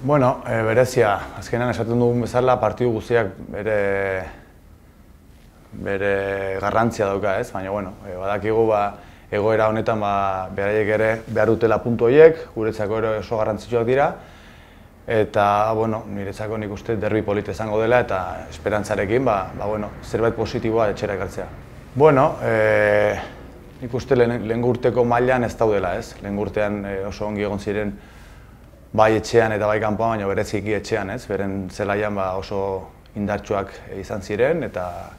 Bueno, berezia, azkenean esaten dugun bezala, partidu guztiak bere garrantzia dauka, ez? Baina, bueno, badakigu egoera honetan beraiek ere behar dutela puntu horiek, guretzako ere oso garrantzitsuak dira. Eta, bueno, niretzako nik uste derbi polita izango dela eta esperantzarekin, zerbait positiboa etxera ekartzea. Bueno, nik uste lehen urteko mailan ez daudela, ez? Lehen urtean oso ongi egon ziren bai etxean eta bai kanpoan, baina bereziki etxean, ez? Beren zelaian oso indartsuak izan ziren eta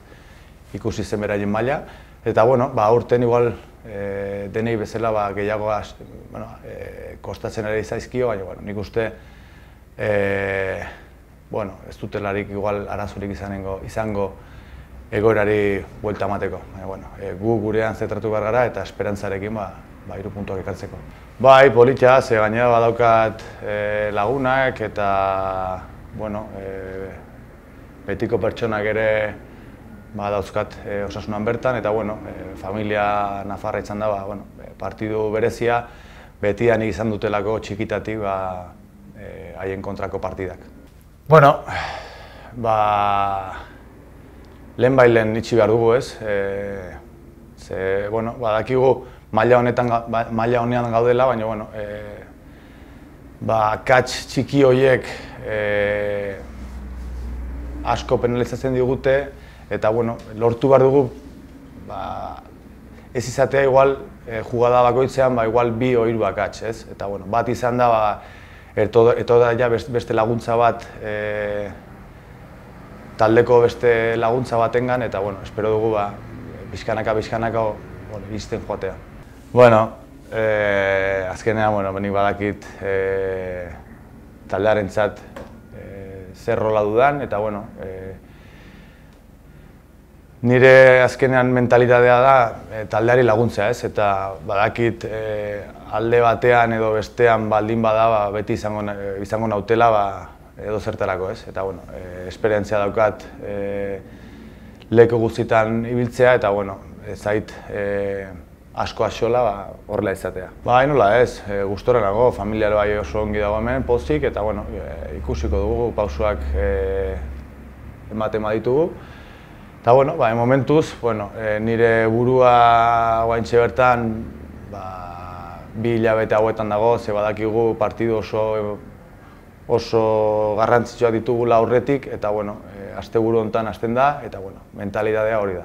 ikusi zen beraien maila. Eta, bueno, urten igual denei bezala gehiago kostatzen ere izaizkio, baina nik uste ez dutelarik igual arazorik izango egoerari buelta emateko. Gu gurean zentratu behar gara eta esperantzarekin 3 puntuak ekartzeko. Bai, polita, ze gainera badaukat lagunak eta betiko pertsonak ere dauzkat osasunan bertan eta familia nafarra izan da partidu berezia betian izan dutelako txikitatik haien kontrako partidak. Bueno, lehen itxi behar dugu, ez? Badakigu maila honean gaudela, baina kats txiki horiek asko penalizatzen digute eta lortu behar dugu ez izatea igual jugada bakoitzean igual 2 o 3 akats, ez? Eta bat izan da eto da beste laguntza bat taldeko beste laguntza batengan eta espero dugu pixkanaka izten joatea. Azkenean nik badakit taldearentzat zer rola dudan eta nire azkenean mentalitatea da taldeari laguntzea, ez? Eta badakit alde batean edo bestean baldin bada beti izango nautela edo zertarako, ez? Eta esperientzia daukat leku guztietan ibiltzea eta ez zait asko axola horrela izatea. Nola ez, gustora nago, familia bai oso ongi dago hemen, pozik eta ikusiko dugu, pausoak ematen baditugu. Eta momentuz, nire burua guaintxe bertan 2 hilabete hauetan dago, ze badakigu partidu oso garrantzitsuak ditugula aurretik eta asteburu honetan hasten da eta mentalitatea hori da.